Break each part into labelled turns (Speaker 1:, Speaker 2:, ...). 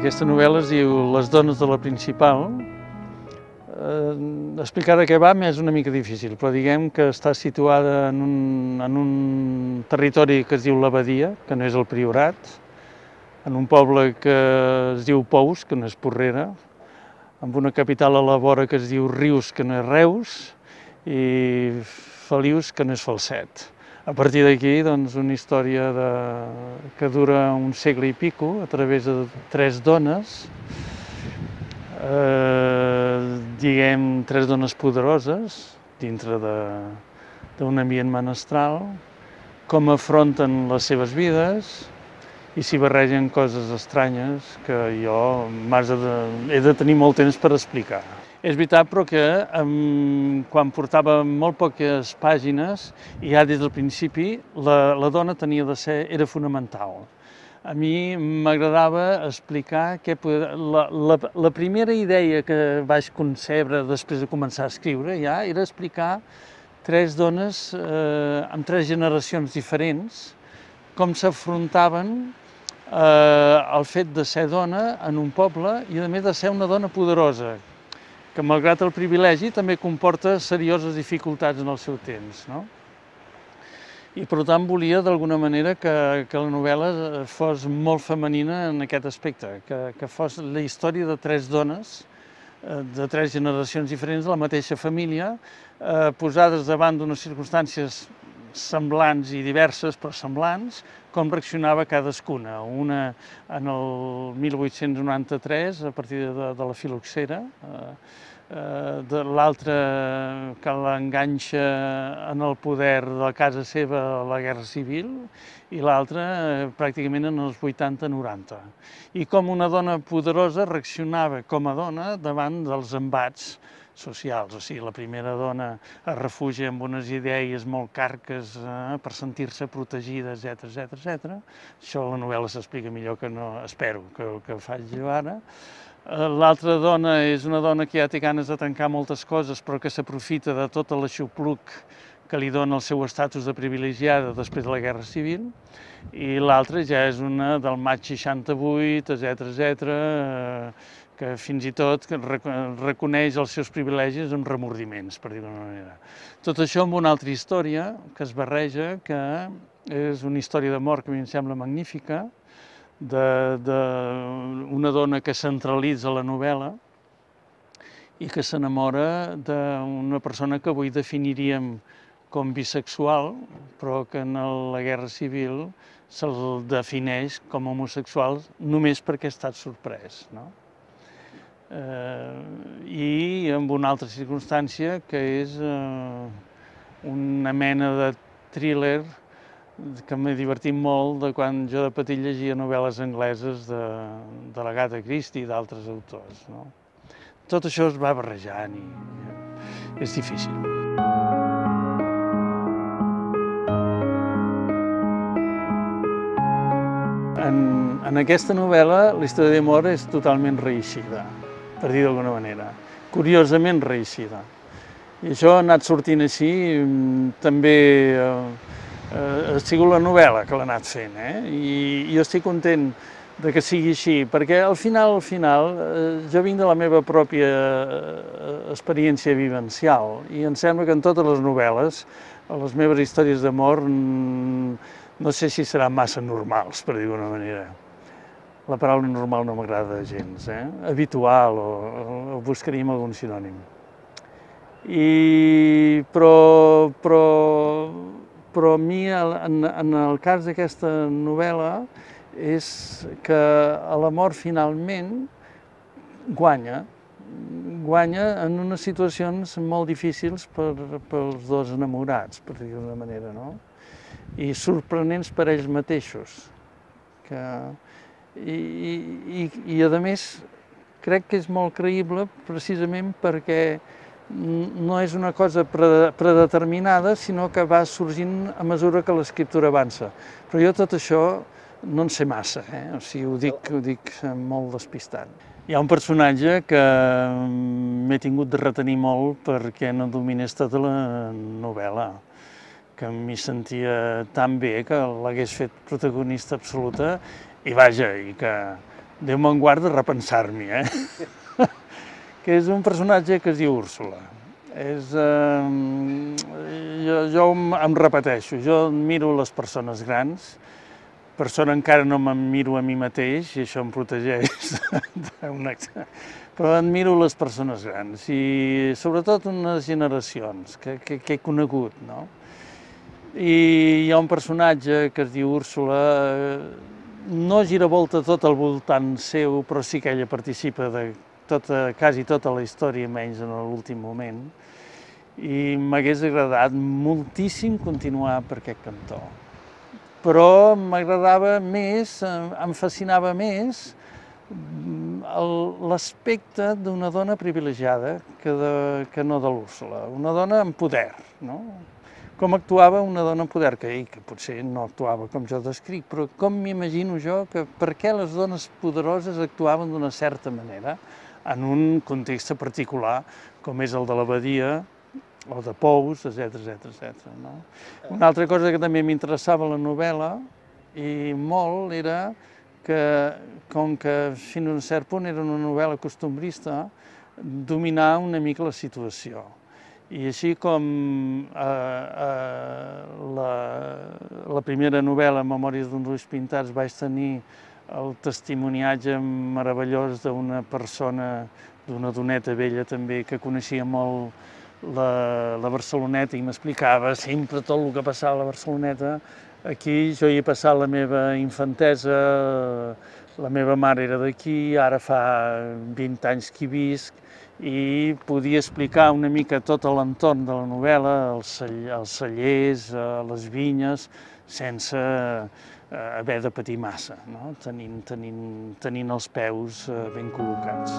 Speaker 1: Aquesta novel·la es diu Les dones de la principal. Explicar de què va és una mica difícil, però diguem que està situada en un territori que es diu l'Abadia, que no és el Priorat, en un poble que es diu Pous, que no és Porrera, amb una capital a la vora que es diu Rius, que no és Reus, i Felius, que no és Falset. A partir d'aquí, doncs, una història que dura un segle i pico, a través de 3 dones, diguem, 3 dones poderoses, dintre d'un ambient menestral, com afronten les seves vides i s'hi barregen coses estranyes que jo he de tenir molt temps per explicar. És veritat, però, que quan portava molt poques pàgines, i ja des del principi, la dona era fonamental. A mi m'agradava explicar la primera idea que vaig concebre després de començar a escriure ja era explicar 3 dones amb 3 generacions diferents, com s'afrontaven al fet de ser dona en un poble i, a més, de ser una dona poderosa, que, malgrat el privilegi, també comporta serioses dificultats en el seu temps, no? I, per tant, volia, d'alguna manera, que la novel·la fos molt femenina en aquest aspecte, que fos la història de 3 dones, de 3 generacions diferents de la mateixa família, posades davant d'unes circumstàncies semblants i diverses, però semblants, com reaccionava cadascuna. Una en el 1893, a partir de la filoxera, l'altra que l'enganxa en el poder de casa seva a la Guerra Civil, i l'altra pràcticament en els 80-90. I com una dona poderosa reaccionava com a dona davant dels embats socials. O sigui, la primera dona es refugia amb unes idees molt carques per sentir-se protegida, etc. Això a la novel·la s'explica millor que no, espero, que faig jo ara. L'altra dona és una dona que ja té ganes de tancar moltes coses, però que s'aprofita de tot l'aixopluc que li dona el seu estatus de privilegiada després de la Guerra Civil, i l'altra ja és una del maig 68, etc., que fins i tot reconeix els seus privilegis amb remordiments, per dir-ho d'una manera. Tot això amb una altra història que es barreja, que és una història d'amor que a mi em sembla magnífica, d'una dona que centralitza la novel·la i que s'enamora d'una persona que avui definiríem com bisexual, però que en la Guerra Civil se'l defineix com homosexual només perquè ha estat sorprès, no? I amb una altra circumstància, que és una mena de thriller que m'he divertit molt de quan jo de petit llegia novel·les angleses de l'Agatha Christie i d'altres autors, no? Tot això es va barrejant i és difícil. En aquesta novel·la la història d'amor és totalment reeixida, per dir d'alguna manera, curiosament reeixida. I això ha anat sortint així, també ha sigut la novel·la que l'ha anat fent, i jo estic content que sigui així, perquè al final, jo vinc de la meva pròpia experiència vivencial, i em sembla que en totes les novel·les, les meves històries d'amor, no sé si seran massa normals, per dir d'una manera. La paraula normal no m'agrada gens, habitual, o buscaríem algun sinònim. Però a mi, en el cas d'aquesta novel·la, és que l'amor finalment guanya en unes situacions molt difícils pels 2 enamorats, per dir d'una manera, no? I sorprenents per ells mateixos. I a més, crec que és molt creïble precisament perquè no és una cosa predeterminada, sinó que va sorgint a mesura que l'escriptura avança. Però jo tot això no en sé massa, o sigui, ho dic molt despistat. Hi ha un personatge que m'he tingut de retenir molt perquè no dominés tota la novel·la, que m'hi sentia tan bé que l'hagués fet protagonista absoluta, i vaja, i que Déu me'n guarda repensar-m'hi, que és un personatge que es diu Úrsula. Jo em repeteixo, jo miro les persones grans, per sort encara no me'n miro a mi mateix, i això em protegeix però admiro les persones grans, i sobretot unes generacions que he conegut, no? I hi ha un personatge que es diu Úrsula, no gira volta tot al voltant seu, però sí que ella participa de quasi tota la història, menys en l'últim moment, i m'hagués agradat moltíssim continuar per aquest cantó. Però m'agradava més, em fascinava més l'aspecte d'una dona privilegiada que no de l'Úrsula, una dona amb poder, no? Com actuava una dona amb poder, que potser no actuava com jo descric, però com m'imagino jo que per què les dones poderoses actuaven d'una certa manera en un context particular com és el de l'abadia o de Pous, etc. Una altra cosa que també m'interessava a la novel·la, i molt, era que, com que fins a un cert punt era una novel·la costumbrista, dominar una mica la situació. I així com la primera novel·la, Memòries d'uns ulls pintats, vaig tenir el testimoniatge meravellós d'una persona, d'una doneta vella també, que coneixia molt la Barceloneta i m'explicava sempre tot el que passava a la Barceloneta. Aquí jo hi he passat la meva infantesa, la meva mare era d'aquí, ara fa 20 anys que hi visc, i podia explicar una mica tot l'entorn de la novel·la, els cellers, les vinyes, sense haver de patir massa, no? Tenint els peus ben col·locats.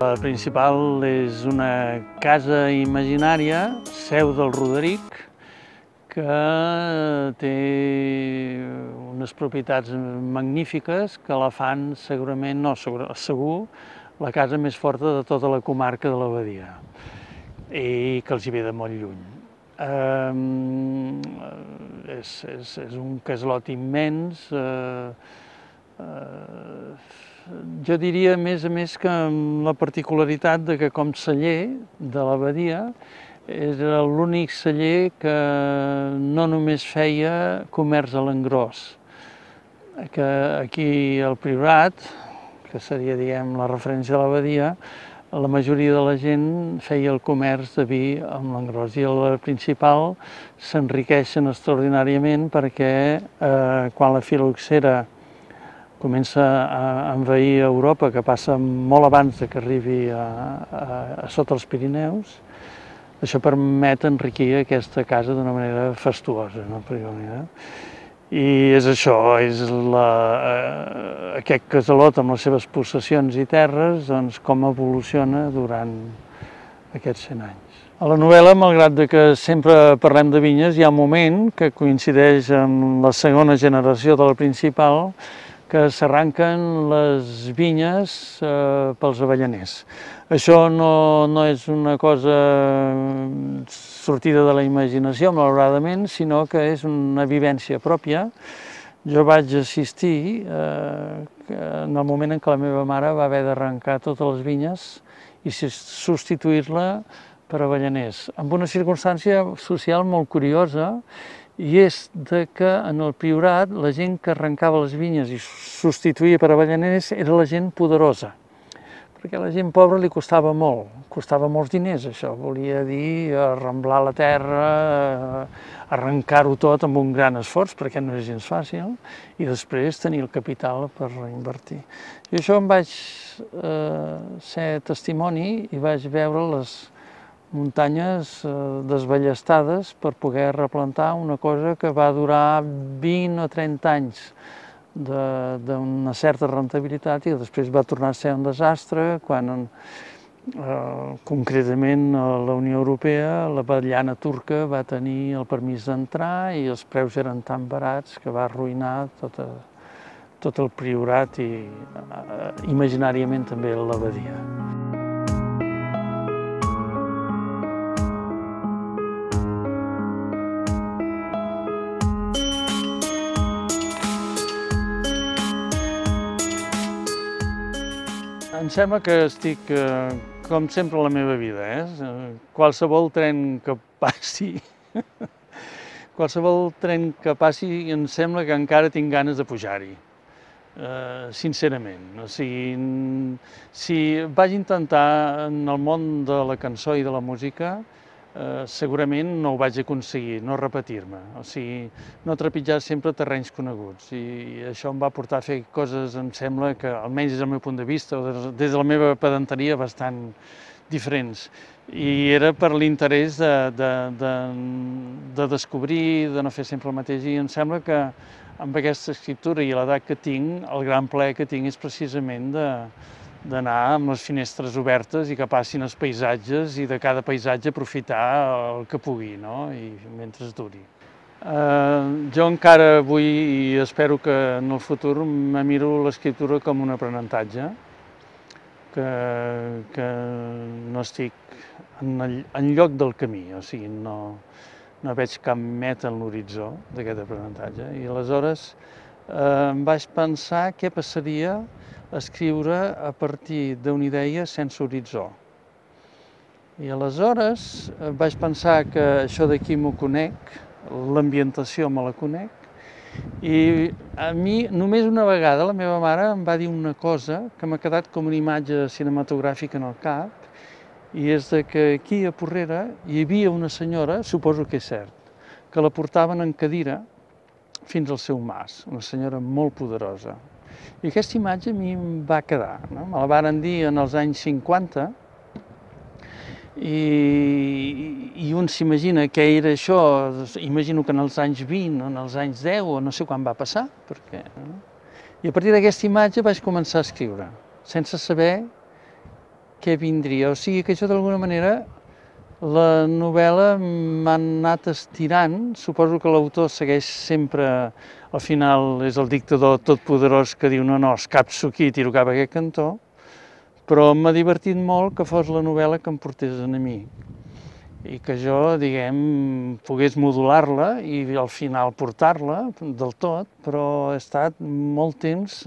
Speaker 1: La principal és una casa imaginària, seu del Roderic, que té unes propietats magnífiques que la fan segurament, no, segur, la casa més forta de tota la comarca de l'Abadia i que els hi ve de molt lluny. És un casalot immens, jo diria, a més que amb la particularitat de que com celler de l'Abadia era l'únic celler que no només feia comerç a l'engròs, que aquí al Priorat, que seria, diguem, la referència de l'Abadia, la majoria de la gent feia el comerç de vi amb l'engròs, i el principal s'enriqueixen extraordinàriament perquè quan la filoxera comença a envair Europa, que passa molt abans que arribi a sota els Pirineus, això permet enriquir aquesta casa d'una manera fastuosa, no? I és això, és aquest casalot amb les seves possessions i terres, doncs com evoluciona durant aquests 100 anys. A la novel·la, malgrat que sempre parlem de vinyes, hi ha un moment que coincideix amb la segona generació de la principal, que s'arranquen les vinyes pels avellaners. Això no és una cosa sortida de la imaginació, malauradament, sinó que és una vivència pròpia. Jo vaig assistir en el moment en què la meva mare va haver d'arrencar totes les vinyes i substituir-la per avellaners, amb una circumstància social molt curiosa, i és que en el Priorat la gent que arrencava les vinyes i substituïa per avellaners era la gent poderosa, perquè a la gent pobra li costava molts diners això, volia dir arramblar la terra, arrencar-ho tot amb un gran esforç, perquè no és gens fàcil, i després tenir el capital per reinvertir. I això em vaig ser testimoni i vaig veure les muntanyes desballestades per poder replantar una cosa que va durar 20 o 30 anys d'una certa rentabilitat i després va tornar a ser un desastre quan Concretament, a la Unió Europea, la vetllana turca va tenir el permís d'entrar i els preus eren tan barats que va arruïnar tot el priorat i imaginàriament també l'abadia. Em sembla que estic, com sempre, a la meva vida. Qualsevol tren que passi, em sembla que encara tinc ganes de pujar-hi, sincerament. O sigui, si vaig intentar en el món de la cançó i de la música, segurament no ho vaig aconseguir, no repetir-me, o sigui, no trepitjar sempre terrenys coneguts, i això em va portar a fer coses, em sembla que, almenys des del meu punt de vista, o des de la meva pedanteria, bastant diferents. I era per l'interès de descobrir, de no fer sempre el mateix, i em sembla que amb aquesta escriptura i l'edat que tinc, el gran plaer que tinc és precisament d'anar amb les finestres obertes i que passin els paisatges i de cada paisatge aprofitar el que pugui, no? I mentre es duri. Jo encara vull i espero que en el futur me miro l'escriptura com un aprenentatge, que no estic enlloc del camí, o sigui, no veig cap meta en l'horitzó d'aquest aprenentatge. I aleshores em vaig pensar què passaria escriure a partir d'una idea sense horitzó. I aleshores vaig pensar que això d'aquí m'ho conec, l'ambientació me la conec, i a mi només una vegada la meva mare em va dir una cosa que m'ha quedat com una imatge cinematogràfica en el cap, i és que aquí a Porrera hi havia una senyora, suposo que és cert, que la portaven en cadira fins al seu mas, una senyora molt poderosa. I aquesta imatge a mi em va quedar, no? Me la varen dir en els anys 50 i un s'imagina què era això, imagino que en els anys 20 o en els anys 10 o no sé quan va passar, perquè... I a partir d'aquesta imatge vaig començar a escriure, sense saber què vindria. O sigui que jo d'alguna manera la novel·la m'ha anat estirant, suposo que l'autor segueix sempre, al final és el dictador totpoderós que diu no, escapço aquí i tiro cap a aquest cantó, però m'ha divertit molt que fos la novel·la que em portés a mi i que jo, diguem, pogués modular-la i al final portar-la del tot, però he estat molt temps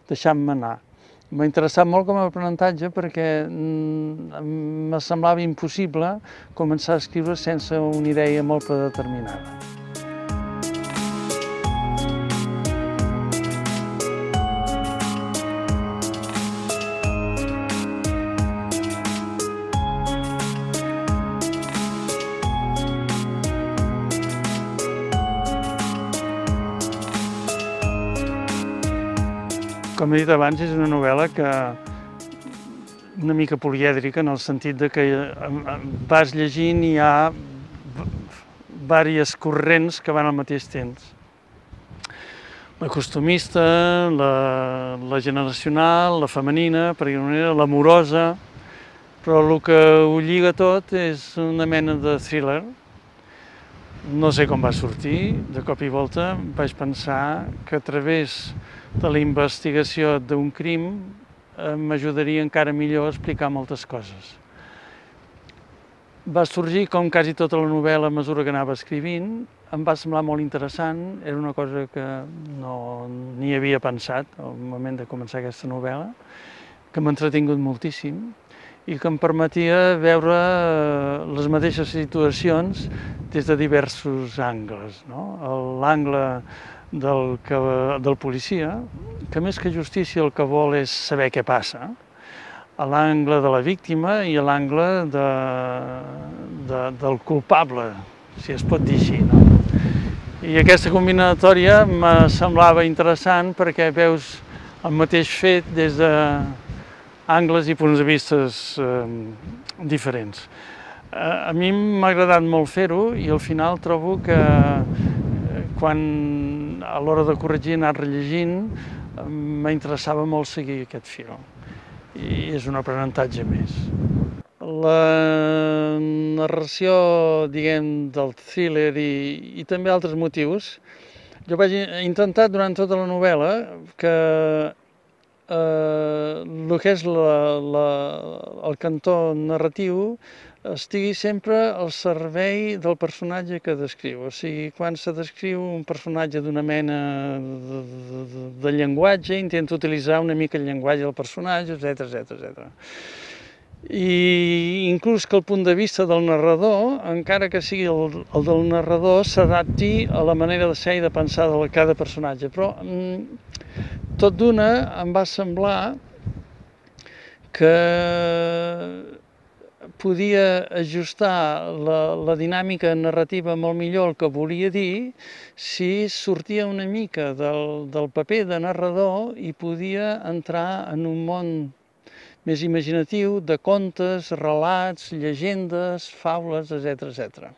Speaker 1: deixant-me anar. M'ha interessat molt com a aprenentatge perquè em semblava impossible començar a escriure sense una idea molt predeterminada. Com he dit abans, és una novel·la una mica polièdrica, en el sentit que vas llegint i hi ha diverses corrents que van al mateix temps. La costumista, la generacional, la femenina, per dir-ho d'una manera, l'amorosa, però el que ho lliga tot és una mena de thriller. No sé com va sortir, de cop i volta vaig pensar que a través de la investigació d'un crim m'ajudaria encara millor a explicar moltes coses. Va sorgir, com quasi tota la novel·la, a mesura que anava escrivint, em va semblar molt interessant, era una cosa que no n'hi havia pensat al moment de començar aquesta novel·la, que m'ha entretingut moltíssim i que em permetia veure les mateixes situacions des de diversos angles. L'angle del policia, que més que justícia el que vol és saber què passa, a l'angle de la víctima i a l'angle del culpable, si es pot dir així. I aquesta combinatòria me semblava interessant perquè veus el mateix fet des d'angles i punts de vista diferents. A mi m'ha agradat molt fer-ho i al final trobo que quan a l'hora de corregir, anar rellegint, m'interessava molt seguir aquest fil. i és un aprenentatge més. La narració, diguem, del thriller i també altres motius, jo vaig intentar durant tota la novel·la que el que és el cantó narratiu estigui sempre al servei del personatge que descriu. O sigui, quan se descriu un personatge d'una mena de llenguatge, intento utilitzar una mica el llenguatge del personatge, etc. I inclús que el punt de vista del narrador, encara que sigui el del narrador, s'adapti a la manera de ser i de pensar de cada personatge. Però tot d'una em va semblar que podia ajustar la dinàmica narrativa molt millor el que volia dir si sortia una mica del paper de narrador i podia entrar en un món més imaginatiu de contes, relats, llegendes, faules, etc.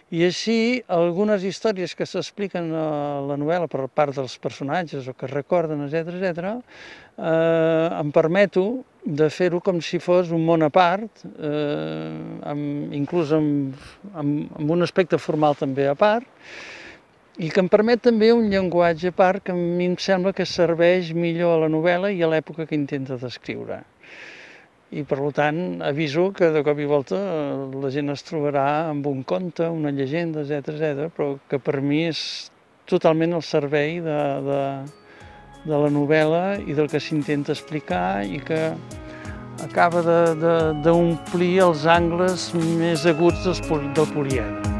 Speaker 1: I així, algunes històries que s'expliquen a la novel·la per part dels personatges o que recorden, etc., em permeto de fer-ho com si fos un món a part, inclús amb un aspecte formal també a part, i que em permet també un llenguatge a part que a mi em sembla que serveix millor a la novel·la i a l'època que intenta descriure. I per tant aviso que de cop i volta la gent es trobarà amb un conte, una llegenda, etc., però que per mi és totalment al servei de la novel·la i del que s'intenta explicar i que acaba d'omplir els angles més aguts del poliedre.